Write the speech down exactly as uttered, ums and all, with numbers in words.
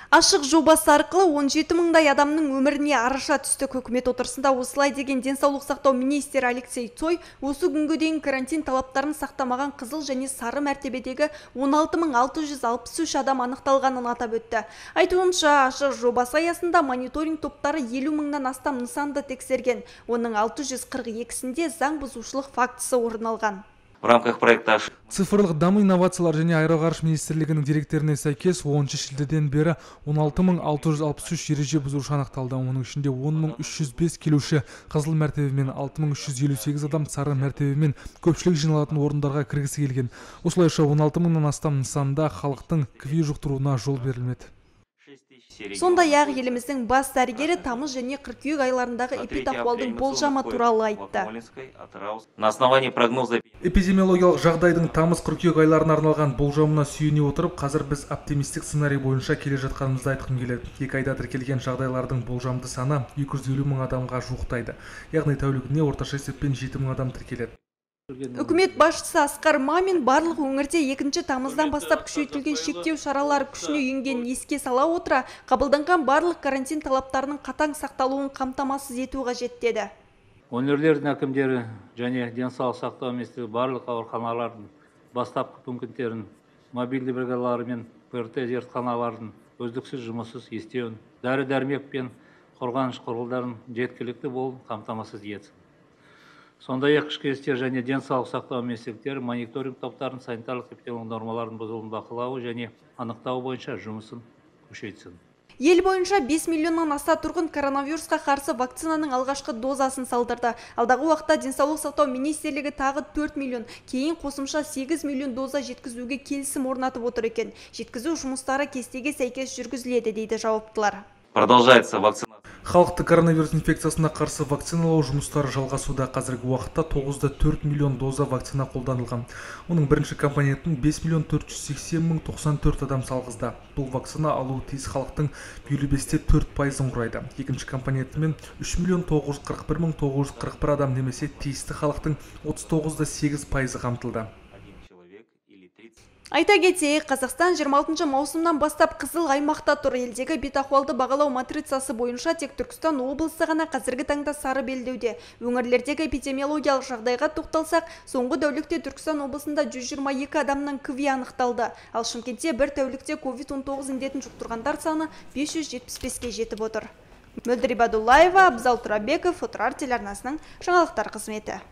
Ашық жобасы арқылы он жеті мыңдай адамның өміріне араша түсті. Үкімет отырысында осылай деген денсаулық сақтау министрі Алексей Цой осы күнге дейін карантин талаптарын сақтамаған қызыл және сары мәртебедегі он алты мың алты жүз алпыс үш адам анықталғанын атап өтті. Айтуынша, ашық жобасы аясында мониторинг топтары елу мыңнан астам нысанды тексерген. Оның алты жүз қырық екісінде заң бұзушылық фактісі орын алған. В рамках проекта цифрлық даму инновациялар және аэроғарыш министрлігінің деректеріне сәйкес оныншы шілдеден бері он алты мың алты жүз алпыс үш ереже бұзушы анықталды. Оның ішінде он мың үш жүз бес келуші қызыл мәртебемен, алты мың үш жүз елу сегіз адам сары мәртебемен көпшілік жиналатын орындарға кіргісі келген. Осылайша он алты мыңнан астам нысанда халықтың КВИ жұқтыруына жол берілмеді. Сондай-ақ еліміздің бас дәрігері тамыз және қыркүйек айларындағы эпидахуалдың болжамы туралы айтты. На основании прогноза Эпидемиологиялық жағдайдың тамыз-қыркүйек айларына арналған болжамына сүйене отырып, қазір біз оптимистік сценарий бойынша келе жатқанымызды айтқым келеді. Екі айда тіркелген жағдайлардың болжамды саны екі жүз елу мың адамға жуықтайды. Яғни тәулігіне орташа есеппен жеті мың адам тіркеледі. Үкімет басшысы Асқар Мамин барлық өңірде екінші тамыздан бастап күшейтілген шектеу шаралары күшіне енгенін еске сала отыра, қабылданған барлық карантин талаптарының қатаң сақталуын қамтамасыз ету қажет деді. Өңірлердің әкімдері және денсаулық сақтау министрлігі барлық ауруханалардың бастапқы пункттерін, мобильді бригадалары мен ПРТ зертханалардың үздіксіз жұмыссыз істеуін, дәрі-дәрмек пен қорғаныш құралдарын жеткілікті болуын қамтамасыз етсін. Сондай-ақ ішкі істер және денсаулық сақтау министрліктері мониторинг топтарын санитарлық эпидемиологиялық нормаларын бұзылуын бақылауы және анықтау бойынша жұмысын күшейтсін. Ел бойынша бес миллионнан аса тұрғын коронавирусқа қарсы вакцинаның алғашқы дозасын салдырды. Алдағы уақытта денсаулық сақтау министрлігі тағы төрт миллион, кейін қосымша сегіз миллион доза жеткізуге келісім орнатып отыр екен. Жеткізу жұмыстары кестеге сәйкес жүргізіледі дейді жауаптылар. Продолжается вакцина. Халықты коронавирус инфекциясына қарсы вакциналау жұмыстары жалғасуда. Қазіргі уақытта тоғыз да төрт миллион доза вакцина қолданылған. Оның бірінші компонентін бес миллион төрт жүз сексен мың тоқсан төрт адам салғызды. Бұл вакцина алуы тиіс халықтың елу бес те төрт пайызын құрайды. Екінші компонентімен үш миллион тоғыз жүз қырық бір мың тоғыз жүз қырық бір адам немесе тиісті халықтың отыз тоғыз да сегіз пайызы қамтылды. Айта кетейік, Қазақстан жиырма алтыншы маусымнан бастап қызыл аймақта тұр. Елдегі бетахуалды бағалау матрицасы бойынша тек Түркістан облысы ғана қазіргі таңда сары белдеуде. Өңірлердегі эпидемиологиялық жағдайға тоқталсақ, соңғы тәулікте Түркістан облысында жүз жиырма екі адамның КВИ анықталды. Ал Шымкентте бір тәулікте ковид он тоғыз індетін жұқтырғандар саны бес жүз жетпіс беске жетіп отыр. Мөлдір Ибадуллаева, Абзал Турабеков, Отырар телеарнасының жаңалықтар қызметі.